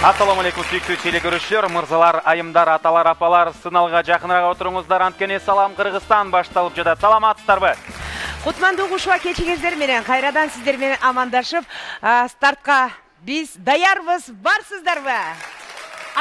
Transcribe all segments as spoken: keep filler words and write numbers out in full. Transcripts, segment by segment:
Assalamu alaikum sүйүктүү теле көрүүчүлөр, мырзалар, айымдар, аталар, апалар, сыналга жакыныраак отуруңуздар. Анткени Салам Кыргызстан башталып жатат. Саламатсыздарбы? Кутмандуу кушуа кечиңиздер менен кайрадан сиздер менен амандашып, стартка биз даярбыз, барсыздарбы?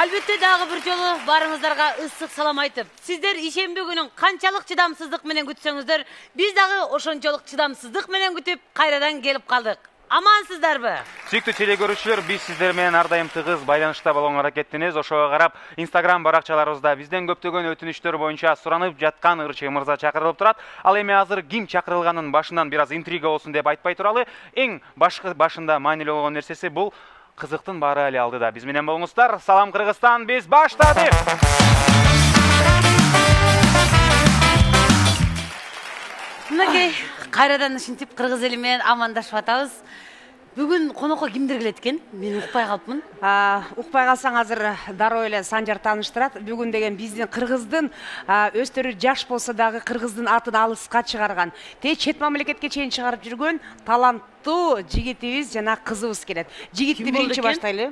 Албетте дагы бир жолу барыңыздарга ысык салам айтып, сиздер ишемби күнүн канчалык чыдамсыздык менен күтсөңүздөр, биз дагы ошончолук чыдамсыздык менен күтүп кайрадан келип калдык. Амансыздарбы? Сүйүктүү теле көрүүчүлөр, биз сиздер менен ар дайым тыгыз байланышта болгонго аракеттенебиз. Ошого карап, Instagram баракчаларыбызда бизден көптөгөн өтүнүчтөр боюнча суранып жаткан ырчы мырза чакырылып турат. Ал эми азыр ким чакырылганын башынан бир аз интрига болсун деп айтпай туралы, эң башкы башында маанилүү болгон нерсеси бул кызыктын баары эле алдыда. Биз менен болуңуздар. Салам Кыргызстан, биз баштадык. Мынакей, кайрадан ушинтип кыргыз эли менен амандашып атабыз. Бүгүн конокко кимдер келет экен? Мен укпай калыпмын. Укпай калсаң азыр дароо эле Санжар тааныштырат. Бүгүн деген биздин кыргыздын өстөрү жаш болсо дагы кыргыздын атын алыска чыгарган, те чет мамлекетке чейин чыгарып жүргөн таланттуу жигитибиз жана кызыбыз келет. Жигитти биринчи баштайлы.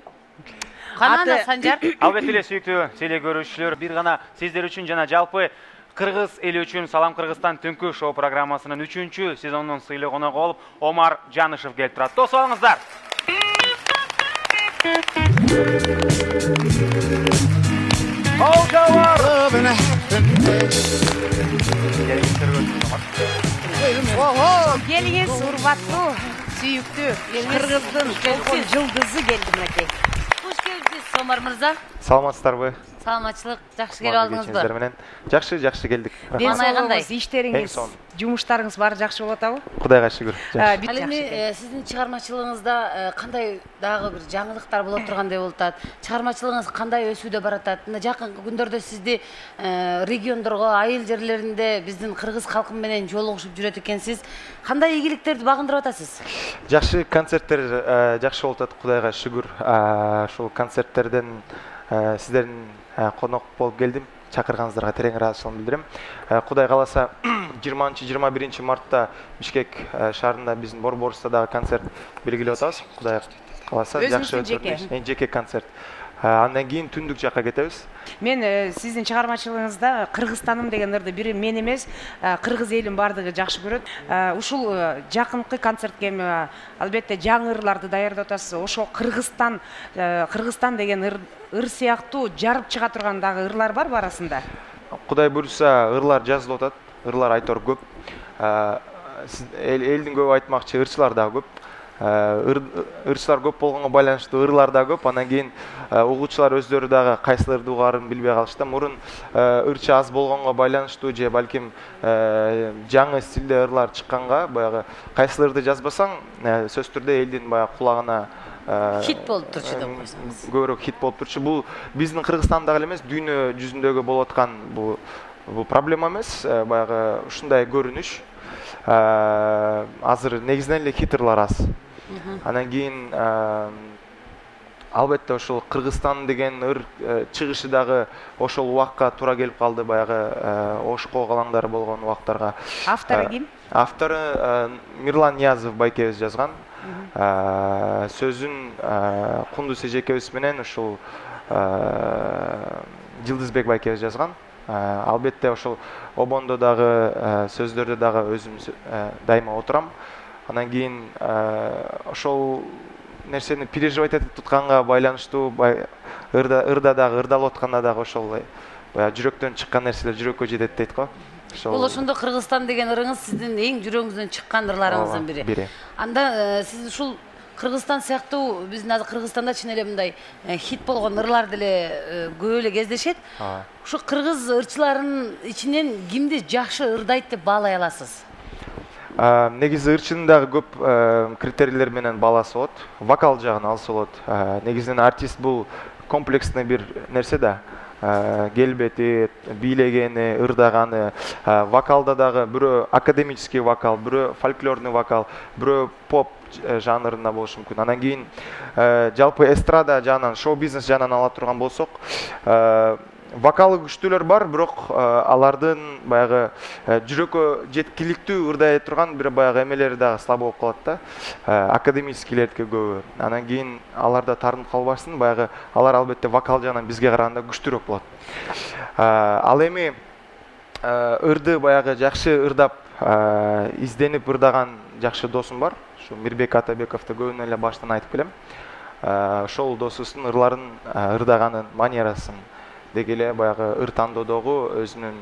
Кананда Санжар? Албетте эле сүйүктүү теле көрүүчүлөр, бир гана сиздер үчүн жана жалпы Кыргыз эли үчүн Салам Кыргызстан түнкү шоу программасынын үчүнчү сезонунун сыйлуу коногу болуп Омар Жанышев келип турат. Тосуп алыңыздар. Келиңиз, урматтуу, сүйүктүү кыргыздын толкун жылдызы келди мынакей. Куш келипсиз, Омар мырза. Саламатсыздарбы? Саламатчылык, жакшы келип алдыңызбы? Жакшы, жакшы келдик. Денсаулыгыңыз, иштериңиз, жумуштарыңыз баары жакшы болуп атабы? Кудайга шүгүр. Ал эми сиздин чыгармачылыгыңызда кандай дагы бир жаңылыктар болуп тургандай болуп атат? Чыгармачылыгыңыз кандай өсүүдө баратат? Мына жакынкы күндөрдө сизди региондорго, айыл жерлеринде биздин кыргыз калкы менен жолугушуп жүрөт экенсиз. Кандай ийгиликтерди багындырып атасыз? Жакшы концерттер жакшы болуп атат, Кудайга шүгүр. Ушул концерттерден сиздердин конок болуп келдим. Чакырганыңыздарга терең ыраазычылыгымды билдирем. Кудай кааласа жыйырманчы жыйырма биринчи мартта Бишкек шаарында биздин Борборус'та дагы концерт белгилеп атабыз. Кудай кааласа жакшы өтөт. Эң жеке концерт. Андан кийин түндүк жакка кетебиз. Мен сиздин чыгармачылыгыңызда Кыргызстаным деген ырды бир мен эмес, кыргыз элин бардыгы жакшы көрөт. Ушул жакынкы концертке албетте жаңы ырларды даярдап атасыз. Ошо Кыргызстан, Кыргызстан деген ыр ыр сыяктуу жарып чыга турган дагы ырлар барбы арасында? Кудай буйруса, ырлар жазылып атат. Ырлар айтор көп. Элдин көбү айтмакчы, ырчылар дагы көп. Ырчылар көп болгонго байланыштуу ырлар да көп. Андан кийин угуучулар өздөрү дагы кайсы ырды угаарын билбей калышты. Мурун ырчы аз болгонго байланыштуу же балким жаңы стилде ырлар чыкканга, баягы кайсы ырды жазбасаң, сөзсүз түрдө элдин баягы кулагына хит болуп турчу деп койсоңуз. Көбүрөөк хит болуп турчу. Бул биздин Кыргызстанда эле эмес, дүйнө жүзүндөгү болуп аткан бул бул проблема эмес, баягы ушундай көрүнүш. Азыр негизинен эле хит ырлар аз. Андан кийин албетте ошол Кыргызстан деген ыр чыгышы дагы ошол убакка туура келип калды, баягы Ошко калаңдар болгон убактарга. Автору ким? Автору Мирлан Ниязов байкебиз жазган. Сөзүн Кундуз эжекебиз менен ушул Жылдызбек байкебиз жазган. Албетте ошол обондо дагы сөздөрдө дагы өзүм дайыма отурам. Андан кийин ошол нерсени переживать этип тутканга байланыштуу ырда ырда дагы ырдалып атканда дагы ошол баягы жүрөктөн чыккан нерселер жүрөккө жетет дейт го. Бул ошондо Кыргызстан деген ырыңыз сиздин эң жүрөгүңүздөн чыккан ырларыңыздын бири. Анда сиз ушул Кыргызстан сыяктуу биздин азыр Кыргызстанда чын эле мындай хит болгон ырлар деле көп эле кездешет. Ушу кыргыз ырчыларынын ичинен кимди жакшы ырдайт деп баалай аласыз? Негизи ырчынын дагы көп критерийлер менен бааласы болот. Вокал жагын алса болот. Негизинен артист бул комплексный бир нерсе да. Келбети, бийлегени, ырдаганы, вокалда дагы бирөө академический вокал, бирөө фольклорный вокал, бирөө поп жанрында болушу мүмкүн. Андан кийин жалпы эстрада жагынан, шоу бизнес жагынан ала турган болсок, вокалы күчтүүлөр бар, бирок алардын баягы жүрөккө жеткиликтүү ырдай турган бир баягы эмелери дагы слабо болуп калат да. Академическийлердики көбү. Анан кийин алар да тартынып калбасын, баягы алар албетте вокал жагынан бизге караганда күчтүүрөөк болот. Ал эми ырды баягы жакшы ырдап, изденип ырдаган жакшы досум бар. Ушу Мирбек Атабековду көбүнө эле баштан айтып келем. Ошол досубуздун ырларын ырдаганын манерасын деги эле баягы ыр тандоодогу өзүнүн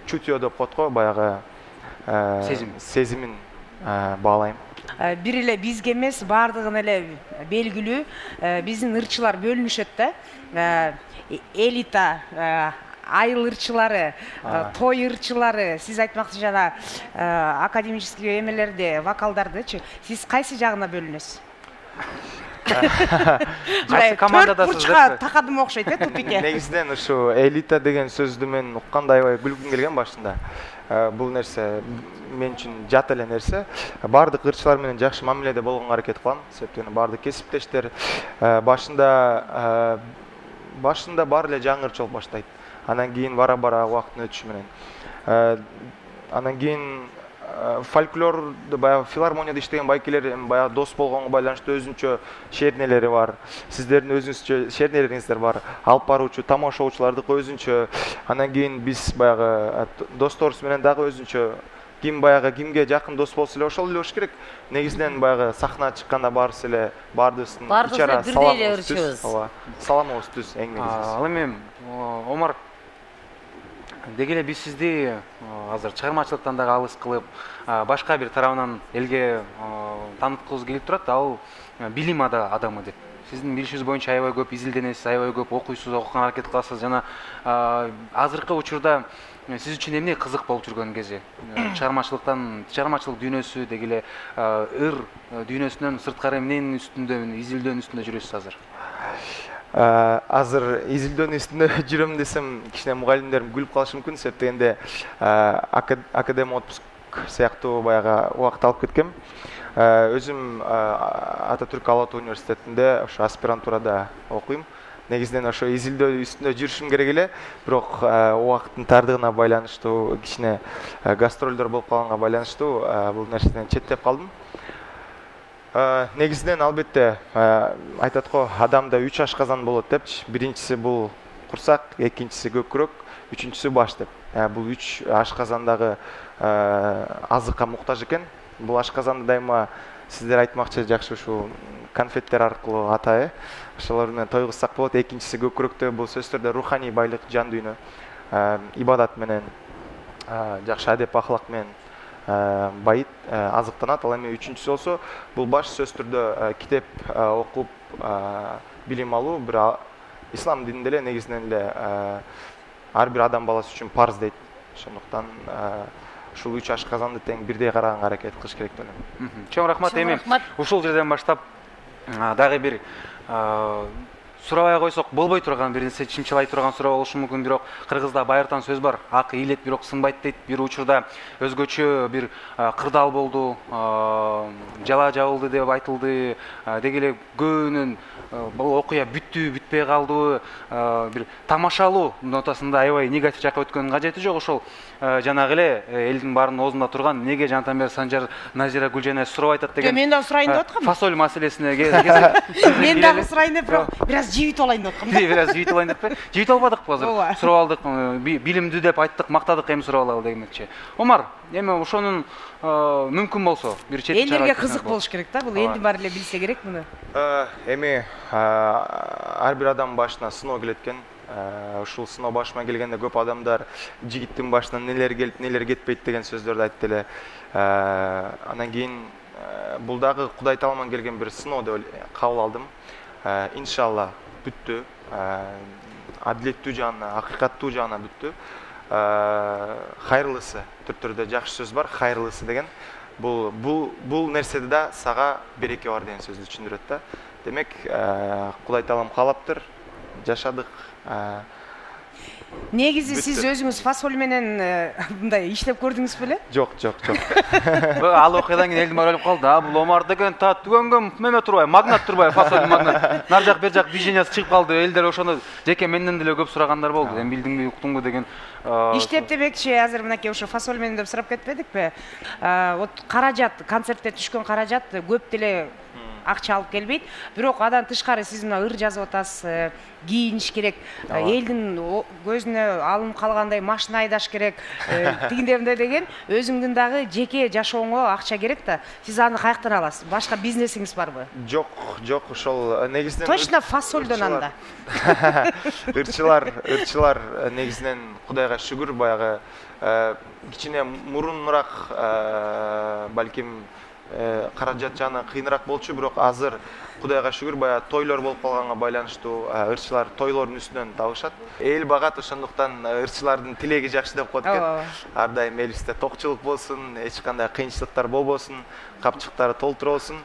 чутье деп коет го, баягы сезим сезимин баалайм. Бир эле бизге эмес, баардыгына эле белгилүү, биздин ырчылар бөлүнүшөт да. Элита, айыл ырчылары, той ырчылары, сиз айтмакчы жана академический эмелерде, вокалдардычы, сиз кайсы жагына бөлүнөсүз? Кайсы командадасыз деп такадым окшойт э, тупикке. Негизинен ушу элита деген сөздү мен укканда аябай күлгүм келген башында. Бул нерсе мен үчүн жат эле нерсе. Бардык ырчылар менен жакшы мамиледе болгонго аракет кылам, себептен бардык кесиптештер башында башында баары эле жаңы ырчы болуп баштайт. Анан кийин бара-бара убакыттын өтүшү менен. Анан кийин фольклорду баягы филармонияда иштеген байкелер баягы дос болгонго байланыштуу өзүнчө шернелери бар. Сиздердин өзүңүзчө шернелериңиздер бар. Алып баруучу тамашоочулардыкы өзүнчө. Анан кийин биз баягы досторубуз менен дагы өзүнчө ким баягы кимге жакын дос болсо эле ошол эле болуш керек. Негизинен баягы сахнага чыкканда баарыбыз эле баардыгыбыздын ичара саламыбыз. Ооба, саламыбыз түз эң негизгиси. Ал эми Омар, деги эле биз сизди азыр чыгармачылыктан дагы алыс кылып, башка бир тарабынан элге тааныткыбыз келип турат, ал билим адамы деп. Сиздин билишиңиз боюнча аябай көп изилденесиз, аябай көп окуйсуз, окуганга аракет кыласыз жана азыркы учурда сиз үчүн эмне кызык болуп жүргөн кези? Чыгармачылыктан, чыгармачылык дүйнөсү деги эле ыр дүйнөсүнөн сырткары эмненин үстүндө, изилдөөнүн үстүндө жүрөсүз азыр? Азыр изилдөөнүн үстүндө жүрөм десем, кичине мугалимдерим күлүп калышы мүмкүн, себептен дегенде академ отпуск сыяктуу баягы убакыт алып кеткем. Өзүм Ататүрк Ала Атуу университетинде ошо аспирантурада окуйм. Негизинен ошо изилдөө үстүндө жүрүшүм керек эле, бирок убакыттын тардыгына байланыштуу, кичине гастролдор болуп калганга байланыштуу бул нерседен четтеп калдым. Негизинен албетте айтат го, адамда үч ашказан болот депчи. Биринчиси бул курсак, экинчиси көкүрөк, үчүнчүсү баш деп. Бул үч ашказандагы азыкка муктаж экен. Бул ашказанды дайыма сиздер айтмакчы жакшы ушу конфеттер аркылуу атайы. Ошолор менен тойгузсак болот. Экинчиси көкүрөктө бул сөзсүз түрдө руханий байлык, жан дүйнө, ибадат менен, жакшы адеп ахлак менен байыт, азыктанат. Ал эми үчүнчүсү болсо, бул баш сөзсүз түрдө китеп окуп, билим алуу, бир ислам дининде эле негизинен эле ар бир адам баласы үчүн парз дейт. Ошондуктан ушул үч ашказанды тең бирдей караганга аракет кылыш керек деп ойлойм. Чоң рахмат. Эми ушул жерден баштап дагы бир сурабай койсок болбой турган бир нерсе, чымчылай турган суроо болушу мүмкүн, бирок кыргызда байыртан сөз бар. Ак ийилет, бирок сынбайт дейт. Бир учурда өзгөчө бир кырдаал болду, жала жабылды деп айтылды. Деги эле көбүнүн бул окуя бүттү, бүтпөй калды, бир тамашалуу нотасында аябай негатив жакка өткөнүн кажети жок. Ошол жанагы эле элдин баарынын оозунда турган неге Жантамбер Санжар Назира Гүлжанай сурап айтат деген. Мен дагы сурайын деп аткам. Фасоль маселесине мен дагы сурайын деп, бирок бираз жибит алайын деп аткам. Бираз жибит алайын деппи? Жибит албадыкпы азыр? Сурап алдык, билимдүү деп айттык, мактадык, эми сурап алалы дегенчи. Омар, эми ошонун мүмкүн болсо бир чет чара. Элдерге кызык болуш керек да, бул элдин баары эле билсе керек муну. Эми ар бир адам башына сыноо келет экен. Ушул сыноо башыма келгенде көп адамдар жигиттин башынан нелер келип, нелер кетпейт деген сөздөрдү айтты эле. Анан кийин бул дагы Кудай таалыман келген бир сыноо деп кабыл алдым. Иншалла бүттү. Адилеттүү жагына, акыйкаттуу жагына бүттү. Хайырлысы түртүрдө жакшы сөз бар, хайырлысы деген. Бул бул бул нерседе да сага береке бар деген сөздү түшүндүрөт да. Демек, Кудай таалам каалаптыр, жашадык. Негизи сиз өзүңүз фасоль менен мындай иштеп көрдүңүз беле? Жок, жок, жок. Ал окуядан кийин элдин баары ойлоп калды. А бул Омар деген та түгөнгөн неме турбай, магнат турбай, фасоль магнат. Нар жак бер жак движениясы чыгып калды. Элдер ошону жеке менден деле көп сурагандар болду. Эми билдиңби, уктуңбу деген. Иштеп демекчи, азыр мынакей ошо фасоль менен деп сурап кетпедикпи? Вот каражат, концертте түшкөн каражат көп деле акча алып келбейт. Бирок адан тышкары сиз мына ыр жазып атасыз, кийиниш керек, элдин көзүнө алынып калгандай машина айдаш керек, тигиндей мындай деген өзүңдүн дагы жеке жашооңо акча керек да. Сиз аны каяктан аласыз? Башка бизнесиңиз барбы? Жок, жок, ошол негизинен точно фасольдон анда. Ырчылар, ырчылар негизинен Кудайга шүгүр, баягы кичине мурунураак балким каражат жаны кыйыныраак болчу, бирок азыр Кудайга шүгүр баягы тойлор болуп калганга байланыштуу ырчылар тойлордун үстүнөн табышат. Эл багат, ошондуктан ырчылардын тилеги жакшы деп коет экен. Ар дайым элибизде токчулук болсун, эч кандай кыйынчылыктар болбосун, капчыктары толтура болсун.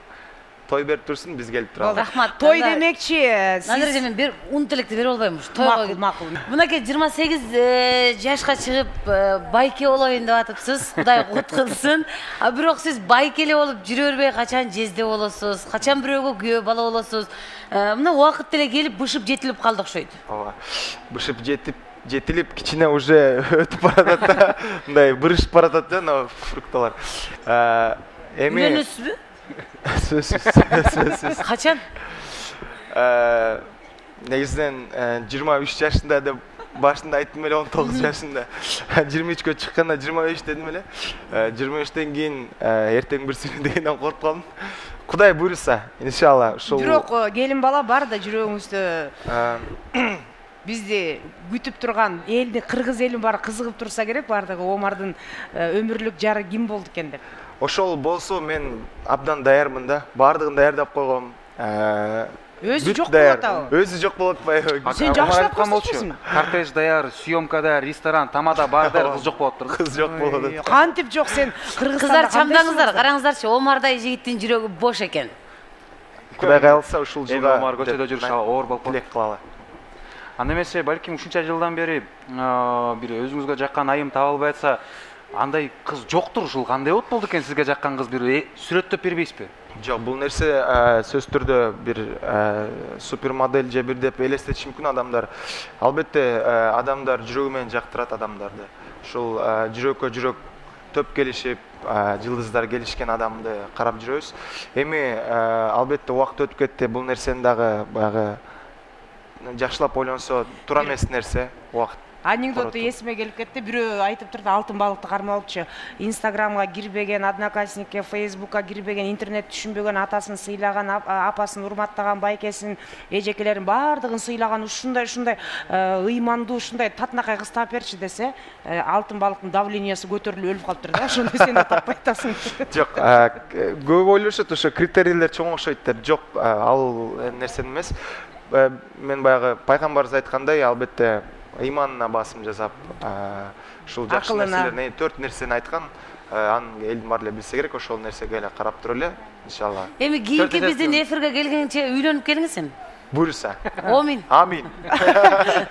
Той берип турсун, биз келип турабыз. Рахмат. Той демекчи, Назыр эже мен бир ун тилекти берип албаймынбы? Макул, макул. Мынакей жыйырма сегиз жашка чыгып байке болоюн деп атыпсыз. Кудай куткузсын. А бирок сиз байке эле болуп жүрө бербей качан жезде болосуз, качан бирөөгө күйөө бала болосуз. Мына убакыт деле келип бышып жетилип калды окшойт. Ооба. Бышып жетип жетилип кичине уже өтүп баратат да. Мындай бырышып баратат да, мына фрукталар. Эми Үйлөнөсүзбү? Сөзсүз, сөзсүз. Качан? Негизинен жыйырма үч жашында деп башында айттым эле, он тогуз жашында. жыйырма үчкө чыкканда жыйырма беш дедим эле. жыйырма үчтөн кийин эртең бир сүрүн дегенден коркуп калдым. Кудай буйруса, иншалла, ушул. Бирок келин бала бар да жүрөгүңүздө. Бизди күтүп турган элди, кыргыз элин баары кызыгып турса керек, бардыгы Омардын өмүрлүк жары ким болду экен деп. Ошол болсо мен абдан даярмын да. Бардыгын даярдап койгом. Өзү жок болот абы. Өзү жок болот атпайбы? Сен жакшылап көрсөтчүсүң. Кортеж даяр, съемка даяр, ресторан, тамада бар даяр, кыз жок болот турду. Кыз жок болот. Кантип жок, сен Кыздар чамдаңыздар, караңыздарчы, Омардай жигиттин жүрөгү бош экен. Кудай кааласа ушул жылга Омар көчөдө жүрүш оор болуп тилек кылалы. Анда эмесе, балким ушунча жылдан бери бир өзүңүзгө жаккан айым таба албай атса, андай кыз жоктур, ушул кандай болуп болду экен сизге жаккан кыз, бир сүрөттөп бербейсизби? Жок, бул нерсе сөз түрдө бир супер модель же бир деп элестетиши мүмкүн адамдар. Албетте адамдар жүрөгү менен жактырат адамдарды. Ушул жүрөккө жүрөк төп келишип, жылдыздар келишкен адамды карап жүрөбүз. Эми албетте убакыт өтүп кетти, бул нерсени дагы баягы жакшылап ойлонсо туура эмес нерсе. Убакыт анекдоту эсиме келип кетти. Бирөө айтып турду, алтын балыкты кармалчу. Инстаграмга кирбеген, Одноклассникке, Фейсбукка кирбеген, интернет түшүнбөгөн, атасын сыйлаган, апасын урматтаган, байкесин, эжекелерин бардыгын сыйлаган, ушундай ушундай ыймандуу, ушундай татынакай кыз таап берчи десе, алтын балыктын давлениясы көтөрүлүп өлүп калыптыр да. Ошондой сен да таппай атасың. Жок, көп ойлошот, ошо критерийлер чоң окшойт деп. Жок, ал нерсе эмес. Мен баягы пайгамбарыбыз айткандай, албетте ыйманына басым жасап, ушул жакшы нерселерни, төрт нерсени айткан, аны элдин баары эле билсе керек, ошол нерсеге эле карап туруп эле, иншалла. Эми кийинки биздин эфирге келгенче үйлөнүп келиңиз эми. Буйруса. Амин. Амин.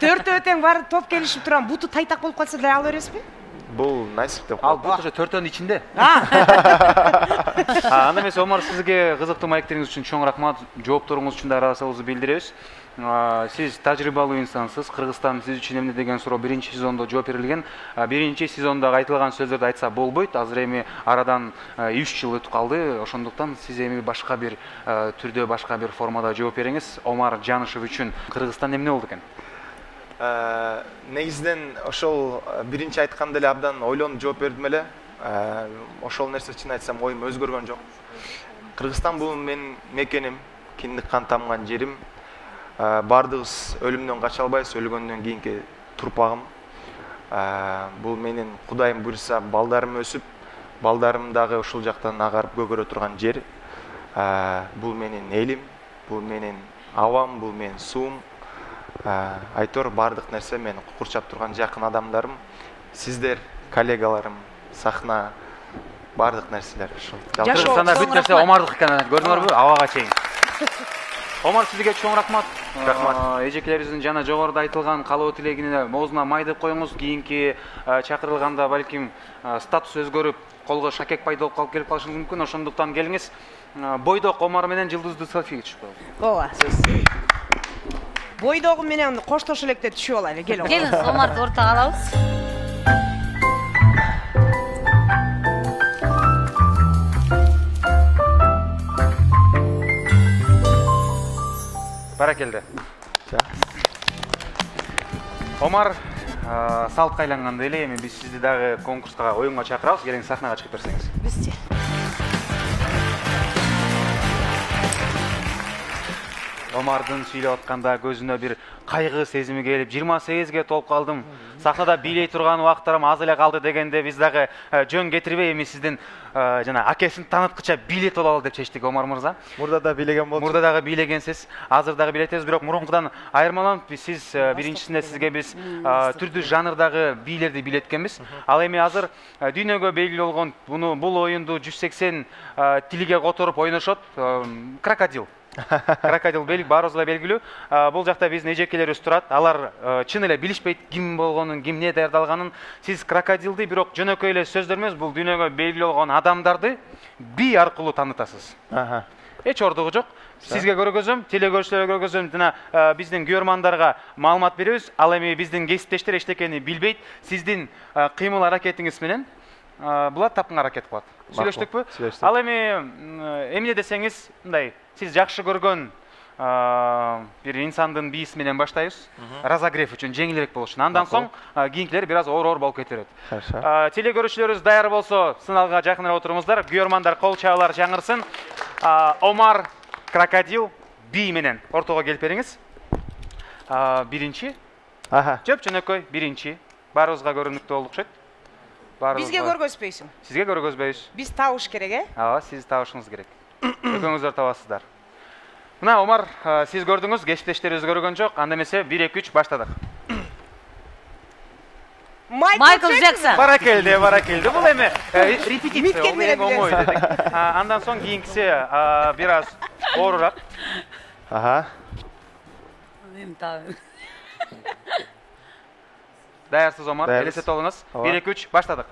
Төртөө тең баары топ келишип турган, буту тайтак болуп калса деле ала бересизби? Бул насип деп Ал коет. бут ошо төртөөнүн ичинде. Анда эмесе, Омар, сизге кызыктуу маектериңиз үчүн чоң рахмат. Жоопторуңуз үчүн да ыраазычылыгыбызды билдиребиз. Сиз тажрыйбалуу инсансыз. Кыргызстан сиз үчүн эмне деген суроо биринчи сезондо жооп берилген. Биринчи сезондо айтылган сөздөрдү айтса болбойт. Азыр эми арадан үч жыл өтүп калды. Ошондуктан сиз эми башка бир түрдө, башка бир формада жооп бериңиз. Омар Жанышев үчүн Кыргызстан эмне болду экен? Негизинен ошол биринчи айтканда эле абдан ойлонуп жооп бердим эле. Ошол нерсе чын айтсам оюм өзгөргөн жок. Кыргызстан бул менин мекеним, киндик кан тамган жерим. Бардыгыбыз өлүмдөн кача албайбыз, өлгөндөн кийинки турпагым. Бул менин Кудайым буйруса балдарым өсүп, балдарым дагы ушул жактан агарып көгөрө турган жер. Бул менин элим, бул менин абам, бул менин суум. Айтор бардык нерсе мени курчап турган жакын адамдарым, сиздер, коллегаларым, сахна, бардык нерселер ушул. Кыргызстанда бүт нерсе Омардык экен, көрдүңөрбү? Абага чейин. Омар, сизге чоң рахмат. Рахмат. Эжекелерибиздин жана жогоруда айтылган каалоо тилегине оозуна май деп коюңуз. Кийинки чакырылганда балким статус өзгөрүп, колго шакек пайда болуп калып келип калышы мүмкүн. Ошондуктан келиңиз. Бойдок Омар менен жылдыздуу селфиге түшүп коелу. ооба. Бойдогу менен коштошо электе түшүп алайлы. Келиң. Келиңиз, Омарды ортого алабыз. Баракелде. Омар, салтка айлангандай эле эми биз сизди дагы конкурска, оюнга чакырабыз. Келиңиз, сахнага чыгып берсеңиз. Бизчи. Омардын сүйлөп атканда көзүнө бир кайгы сезими келип, жыйырма сегизге толуп калдым. Сахнада бийлей турган убактарым аз эле калды дегенде биз дагы жөн кетирбей эми сиздин жана акесин тааныткыча бийлет бололу деп чечтик, Омар мырза. Мурда да бийлеген болчу. Мурда дагы бийлегенсиз, азыр дагы бийлетебиз, бирок мурункудан айырмаланып, сиз биринчисинде сизге биз түрдүү жанрдагы бийлерди бийлеткенбиз. Ал эми азыр дүйнөгө белгилүү болгон буну бул оюнду жүз сексен тилге которуп ойношот крокодил. Крокодил белги баарыбызга белгилүү. Бул жакта биздин эжекелерибиз турат. Алар чын эле билишпейт ким болгонун, кимне даярдалганын. Сиз крокодилди бирок жөнөкөй эле сөздөр эмес, бул дүйнөгө белгилүү болгон адамдарды би аркылуу таанытасыз. Аха. Эч ордугу жок. Сизге көргөзөм, телекөрүүчүлөргө көргөзөм, жана биздин көрөрмандарга маалымат беребиз. Ал эми биздин кесиптештер эчтекени билбейт. Сиздин кыймыл аракетиңиз менен булар тапкан аракет кылат. Сүйлөштүкпү? Ал эми эмне десеңиз, мындай, сиз жакшы көргөн бир инсандын бийиси менен баштайбыз. Разогрев үчүн жеңилирээк болуш үчүн. Андан соң кийинкилери бир аз оор-оор болуп кете берет. Телекөрүүчүлөрүбүз даяр болсо, сыналга жакыныраак отуруңуздар. Көрөрмандар кол чабуулар жаңырсын. Омар крокодил бий менен ортого келип бериңиз. Биринчи. Аха. Жөп жөнөкөй биринчи. Баарыбызга көрүнүктүү болуп окшойт. Бизге көргөзбөйсүң. Сизге көргөзбөйбүз. Биз табыш керек, э? Ооба, сиз табышыңыз керек. Экөөңүздөр табасыздар. Мына, Омар, сиз көрдүңүз, кесиптештерибиз көргөн жок. Анда эмесе бир эки үч баштадык. Майкл Джексон. Баракелде, баракелде. Бул эми репетиция, бул эң оңой дедик. Андан соң кийинкиси бир аз оорураак. Аха. Даярсыз, Омар? Элестетип алыңыз. бир эки үч баштадык.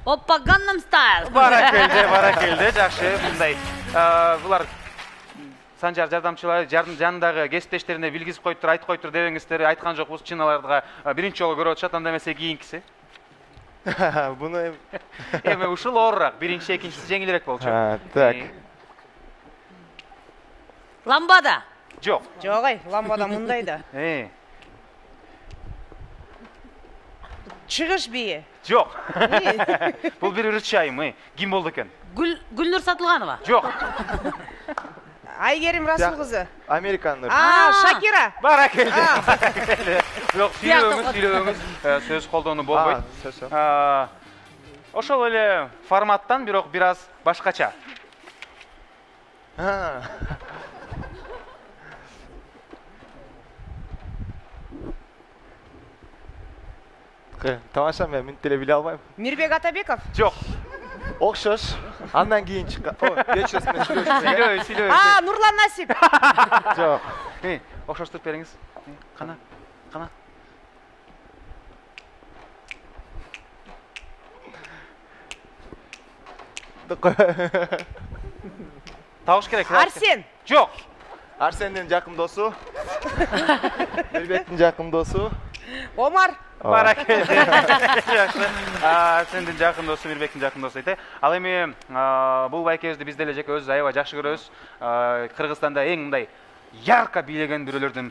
Оппа, Gangnam Style. Баракелде, баракелде, жакшы. Мындай, булар Санжар жардамчылары жанындагы кесиптештерине билгизип коюптур, айтып коюптур дебеңиздер, айткан жокпуз. Чын аларга биринчи жолу көрүп атышат, анда эмесе кийинкиси. Буну эми ушул оорураак, биринчи, экинчиси жеңилирээк болчу. Так. Ламбада. Жок. Жок, ай, ламбада мындай да. Э. Чыгыш бийи. Жок. Бул бир ырчы айым, ким болду экен? Гүлнур Сатылганова. Жок. Айгерим Расул кызы. Американдар. А, Шакира. Баракелде. Бирок сүйлөбөңүз, сүйлөбөңүз, сөз колдонуу болбойт. Ошол эле форматтан, бирок бир аз башкача. Тамаша, мен мүнөт деле биле албайм. Мирбек Атабеков. Жок. Окшош. Андан кийин чыккан. Кечиресиз, мен сүйлөшүм. Сүйлөбөй, сүйлөбөй. А, Нурлан Насип. Жок. Э, окшоштуруп бериңиз. Кана, кана. Табыш керек. Арсен. Жок. Арсендин жакын досу. Мирбектин жакын досу. Омар. Баракелде. Жакшы. Арсендин жакын досу, Мирбектин жакын досу дейт. Ал эми бул байкебизди биз деле жеке өзүбүз аябай жакшы көрөбүз. Кыргызстанда эң мындай ярко бийлеген бирөөлөрдүн.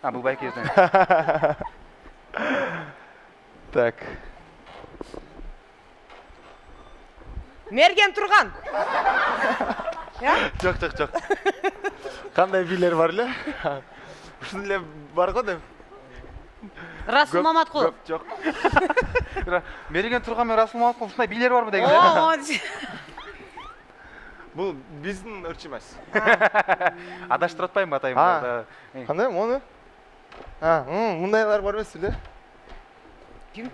А, бул байкебизден. Так. Мерген Турган. Жок, жок, жок. Кандай бийлер бар эле? Ушул эле бар го деп. Расул Маматкулов. Жок. Мерген Турган менен Расул Маматкулов ушундай бийлер барбы деген. Бул биздин ырчы эмес. Адаштырып атпайбы атайым? Кандай мону? А, мындайлар бар эмес беле? Ким?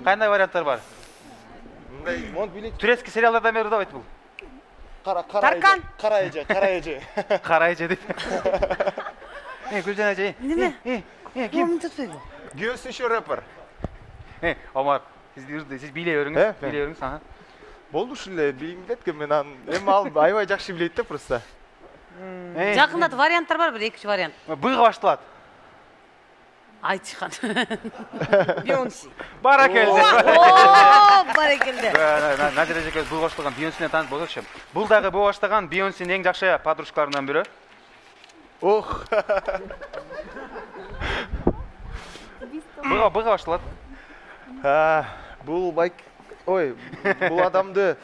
Кандай варианттар бар? мындай монт билет. Турецкий сериалдардан бери давайт бул. Кара кара. Таркан. Кара эже, кара эже. Кара эже деп. Э, Гүлжан эже. Неме? Э, э, ким? Ким tutпайбы? Гүйөсү еще рэпер. Э, Омар, сиз үрдү, сиз биле Э, бериңиз, мен. биле бериңиз, ага. Болду ушуле билгим келет экен мен аны. Эми ал аябай жакшы билет да просто. Э, Жакында варианттар бар, бир экинчи вариант. Быйга башталат. Айтышкан. Бейонсе. Баракелде. О, барекелде. Назира эжекебиз быйга баштаган Бейонсени таанып болсокчу. Бул дагы быйга баштаган Бейонсенин эң жакшы подружкаларынан бири. Ох. Быйга быйга башталат. А, бул байк. Ой, бул адамды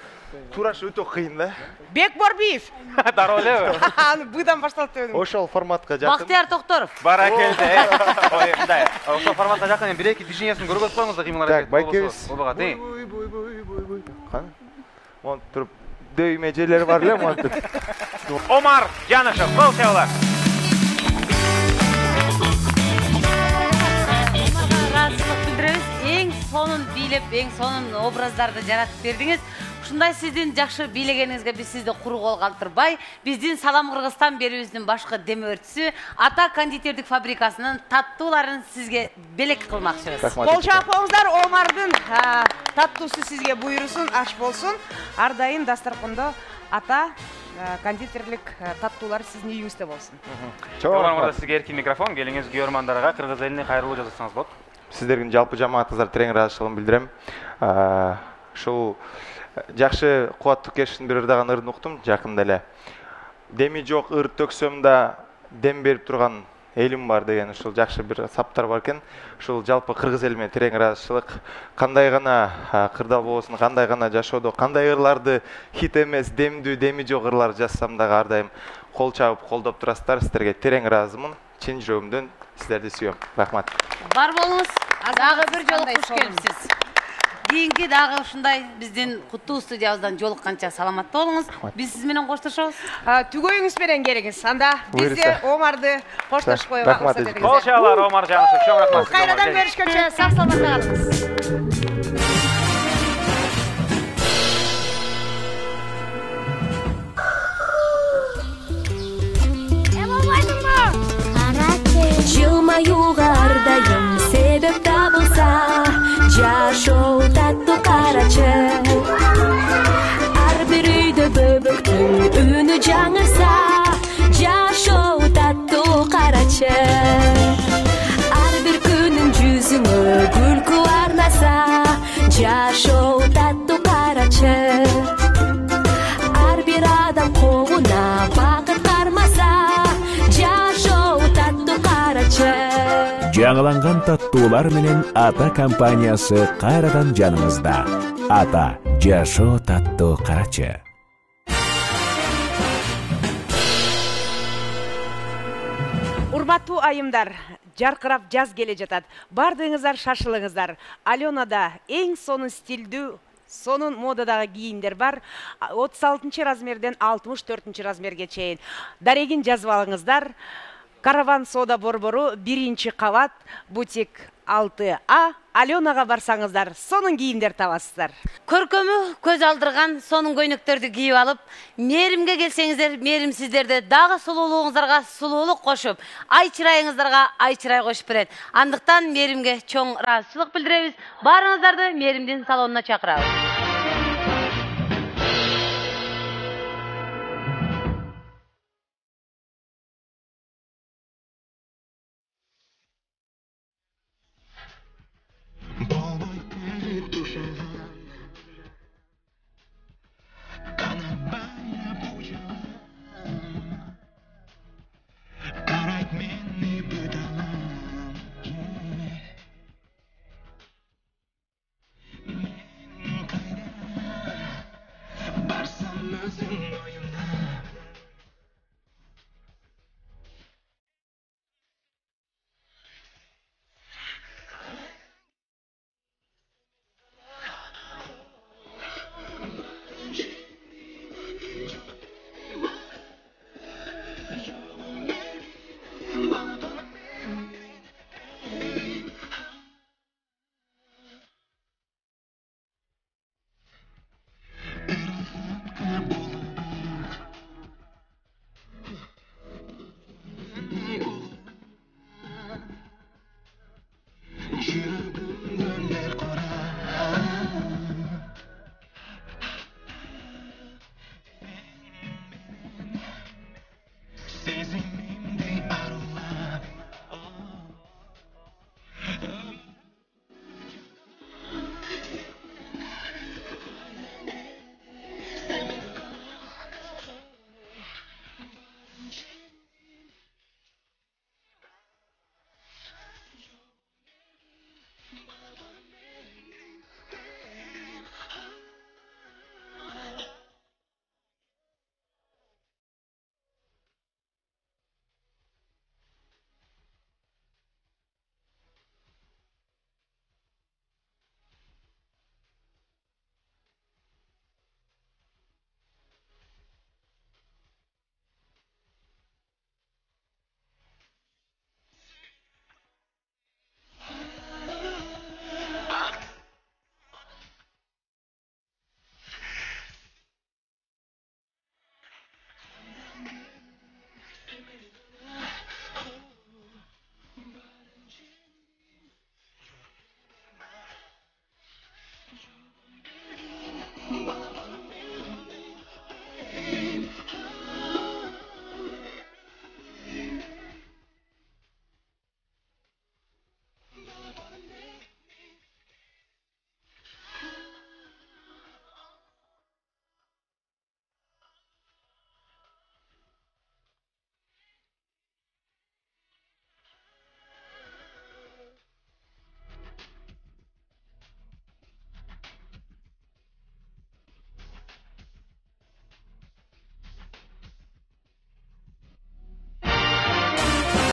тураш өтө кыйын да. Бек Борбиев. Дароо элеби? Аны быдан башталат деп едим. Ошол форматка жакын. Бактияр Токторов. Баракелде. Ой, мындай. Ошол форматка жакын бир эки движениясын көргөзүп коюңуз да кыймыл Так, аракет. байкебиз. Болбогат, э. Бой, бой, бой, бой, бой. Кана? Монт туруп дөймө жерлери бар эле монтуп. Омар Жанышев, кол чабуулар. Ыраазычылык билдиребиз. Эң сонун бийлеп, эң сонун образдарды жаратып бердиңиз. Ушундай сиздин жакшы бийлегениңизге биз сизди куру кол калтырбай, биздин Салам Кыргызстан берүүбүздүн башкы демөөрчүсү Ата кондитердик фабрикасынын таттууларын сизге белек кылмакчыбыз. Кол чаап коюңуздар, Омардын таттуусу сизге буйрусун, аш болсун. Ар дайым дасторкондо Ата кондитерлик таттуулар сиздин үйүңүздө болсун. Омар мырза, сизге эркин микрофон, келиңиз көрөрмандарга кыргыз элине кайрылуу жасасаңыз болот. Сиздердин жалпы жамаатыңыздар терең ыраазычылыгымды билдирем. Ушул жакшы кубаттуу кештин бир ырдаган ырын уктум жакында эле. Деми жок ыр төксөм да дем берип турган элим бар деген ушул жакшы бир саптар бар экен. Ушул жалпы кыргыз эли менен терең ыраазычылык. Кандай гана кырдал болбосун, кандай гана жашоодо, кандай ырларды хит эмес, демдүү, деми жок ырлар жазсам дагы ар дайым кол чабып колдоп турасыздар. Сиздерге терең ыраазымын. Чын жүрөгүмдөн сиздерди сүйөм. Рахмат. Бар болуңуз. Дагы бир жолу куш келипсиз. Кийинки дагы ушундай биздин куттуу студиябыздан жолукканча саламатта болуңуз. Биз сиз менен коштошобуз. Түгөйүңүз менен келиңиз. Анда биз де Омарды коштошуп коюуга Рахмат. уруксат этиңиз. Кол чабуулар Омар Жанышев, чоң рахмат. Кайрадан көрүшкөнчө сак саламатта калыңыз. Жылмаюга ар дайым себеп табылса, жашоо таттуу карачы. Ар бир үйдө бөбөктүн үнү жаңырса, жашоо таттуу карачы. Ар бир күнүн жүзүңө күлкү арнаса, жашоо таттуу карачы. Ар бир адам колуна бакыт кармаса, жашоо таттуу карачы. Жаңыланган таттуулар менен Ата компаниясы кайрадан жаныңызда. Ата жашоо таттуу карачы. Урматтуу айымдар, жаркырап жаз келе жатат. Бардыгыңыздар шашылыңыздар. Аленада эң сонун стилдүү, сонун модадагы кийимдер бар. отуз алтынчы размерден алтымыш төртүнчү размерге чейин. Дарегин жазып алыңыздар. Караван Сода борбору биринчи кабат, бутик алты А. Аленага барсаңыздар, сонун кийимдер табасыздар. Көркөмү көз алдырган сонун көйнөктөрдү кийип алып, мээримге келсеңиздер, мээрим сиздерди дагы сулуулугуңуздарга сулуулук кошуп, ай чырайыңыздарга ай чырай кошуп берет. Андыктан мээримге чоң ыраазычылык билдиребиз. Баарыңыздарды мээримдин салонуна чакырабыз.